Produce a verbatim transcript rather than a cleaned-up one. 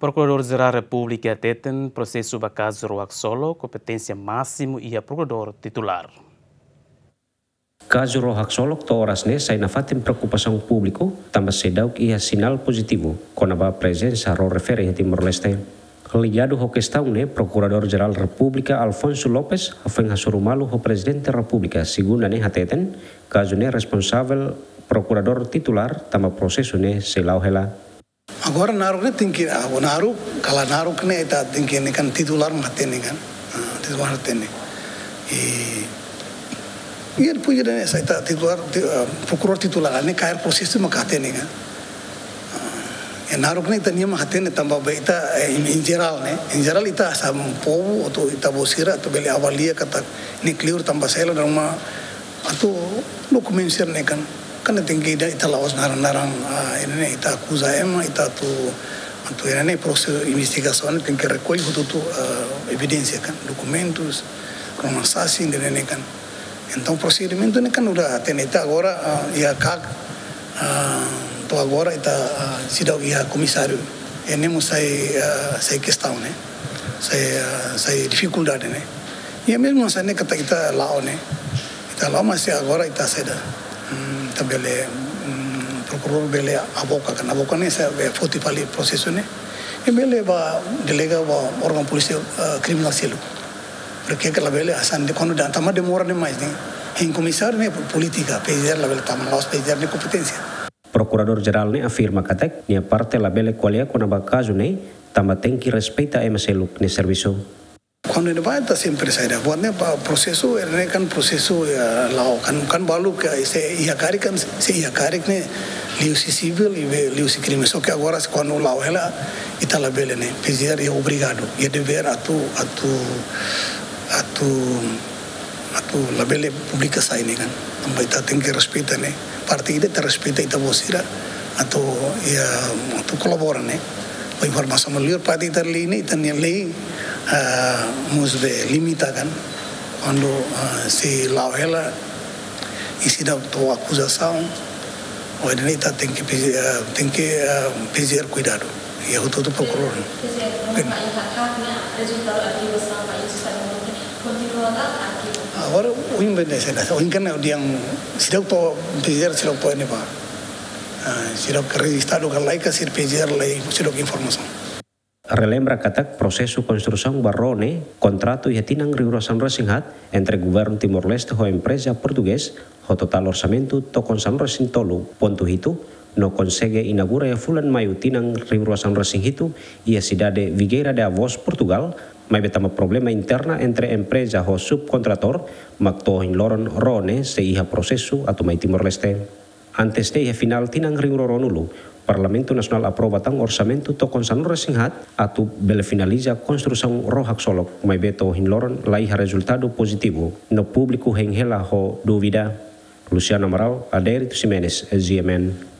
Prokuradór Jerál Repúblika hateten prosesu ba kazu ró haksolok kompeténsia másimu iha prokuradór titulár. Kazu ró haksolok to'o oras ne'e sai nafatin preokupasaun públiku, tanba seidauk iha sinál pozitivu kona-ba prezensa ró refere iha Timor-Leste. Ligadu ho kestaun ne'e, Prokuradór Jerál Repúblika Alfonso Lopes hafoin hasoru malu ho Prezidente Repúblika Segunda ne'e hateten, kazu ne'e responsavel prokuradór titulár tanba prosesu ne'e sei la'o hela. Agora naruk ne'e tenke, ah, naruk, kala naruk ne'e ita tenke ne'e kan titulár mak hatene kan. Ah, titulár hatene. I, i depois de ne'e sai ita titulár, ti-, ah, prokuradór titulár ne'e kaer prosesu mak hatene kan. Ah, i naruk ne'e ita-nia mak hatene tanba ba ita, eh, em, em geral ne'e. Em geral ita hanesan povu atu ita-boot sira atu bele avalia katak ne'e kleur tanba sela dan uma atu dokumentu sira-ne'e kan, kan tenke ita, ita la'ós naran-naran, ah, ida-ne'e ita akuza ema, ita atu, atu ida-ne'e prosesu investigasaun ne'e tenke rekolle hotu-hotu, ah, evidénsia kan, dokumentus, kromasasi ida-ne'e kan. Entaun prosedimentu ne'e kan udah hatene ita agora, ah, iha KAK, ah, to'o agora ita, ah, seidauk iha komisáriu. Ne'e mós sai, ah, sai kestaun ne'e. Sai, ah, sai difikuldade ne'e. I mezmu hanesan ne'e katak ita la'o ne'e. Ita la'o mas agora ita saida. Hmm, ita bele, hmm, prokuradór bele aboka kan. Aboka ne'e sai be foti fali prosesu ne'e. I bele ba delega ba órgaun polísia, ah, kriminál seluk. Porque labele hanesan ne'e kuandu ita tama demora demais ne'e. Hein komisáriu ne'e polítika, PGR labele tama la'ós PGR nia kompeténsia. Prokuradór Jerál ne'e afirma katak nia parte labele ko'alia kona-ba kazu ne'e, tanba tenke respeita ema seluk nia servisu. Kuandu ne'ebá ita sempre saida, buat ne'e ba prosesu, ne'e kan prosesu, ya, la'o kan, kan balu ke se iha karik kan, se iha karik ne'e liuhusi sivíl, i be liuhusi krime. Só ke agora se kuandu la'o hela, ita labele ne'e, PGR iha obrigadu, iha devér atu, atu, atu, atu labele publika sai ne'e kan. Tanba ita tenke respeita ne'e. Parte ida ita respeita ita-boot sira atu, ya, atu kolabora ne'e. Ba informasaun melhor parte ita lei ne'e, ita-nia lei, ah, mós be limita kan. Kuandu, ah, sei la'o hela, i seidauk to'o akuzasaun, o ida-ne'e ita tenke PG, ah, tenke, ah, PGR kuidadu. Iha hotu-hotu prokuradór. PGR, oke. Agora, ohin be ne'e saida, ohin kan odian seidauk to'o PGR seidauk to'o ne'ebá. Ah, seidauk rejistadu ka lae ka sira PGR lae, seidauk informasaun. Relembra katak prosesu konstrusaun ba ró ne'e kontratu iha tinan rihun rua sanulu resin haat entre Governu Timor-Leste ho empreza portugés ho totál orsamentu tokon sanulu resin tolu pontu hitu, no konsege inaugura iha fulan Maiu tinan rihun rua sanulu resin hitu iha sidade Figueira de Avós, Portugal, maibé tanba problema interna entre empreza ho subkontratór, mak to'o ohin loron ró ne'e sei iha prosesu atu mai Timor-Leste. Antes ne'e iha finál tinan rihun rua ruanulu, Parlamentu Nasionál aprova tan orsamentu tokon sanulu resin haat atu bele finaliza konstrusaun ró haksolok, maibé to'o ohin loron la iha rezultadu pozitivu, no públiku hein hela ho dúvida. Luciano Amaral, Adérito Ximenes, GMN.